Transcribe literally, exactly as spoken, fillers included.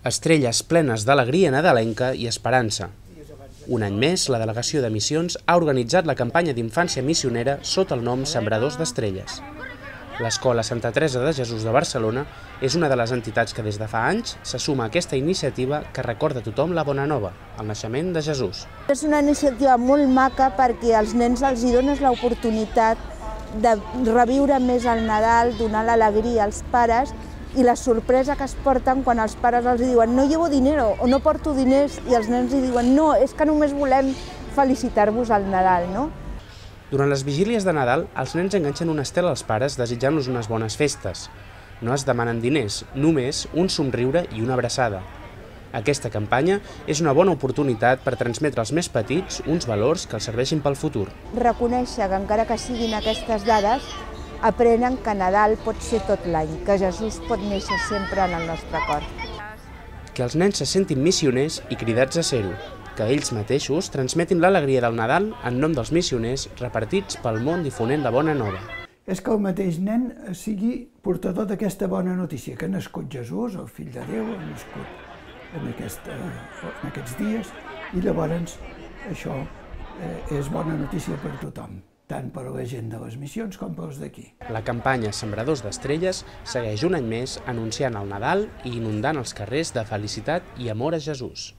Estrelles plenes d'alegria nadalenca i esperança. Un any més, la Delegació de Missions ha organitzat la campanya d'infància missionera sota el nom Sembradors d'Estrelles. L'Escola Santa Teresa de Jesús de Barcelona és una de les entitats que des de fa anys se suma a aquesta iniciativa que recorda a tothom la bona nova, el naixement de Jesús. És una iniciativa molt maca perquè als nens els hi dones l'oportunitat de reviure més el Nadal, donar l'alegria als pares i la sorpresa que es porten quan els pares els diuen no llevo dinero o no porto diners i els nens li diuen no, és que només volem felicitar-vos al Nadal, no? Durant les vigílies de Nadal, els nens enganxen una estel als pares desitjant-los unes bones festes. No es demanen diners, només un somriure i una abraçada. Aquesta campanya és una bona oportunitat per transmetre als més petits uns valors que els serveixin pel futur. Reconèixer que encara que siguin aquestes dades, aprenen que Nadal pot ser tot l'any, que Jesús pot néixer sempre en el nostre cor. Que els nens se sentin missioners i cridats a ser-ho, que ells mateixos transmetin l'alegria del Nadal en nom dels missioners repartits pel món difonent la bona nova. És que el mateix nen sigui portador d'aquesta bona notícia, que ha nascut Jesús, el fill de Déu, ha nascut en, aquesta, en aquests dies, i llavors això és bona notícia per tothom, tant per a la gent de les missions com pels d'aquí. La campanya Sembradors d'Estrelles segueix un any més anunciant el Nadal i inundant els carrers de felicitat i amor a Jesús.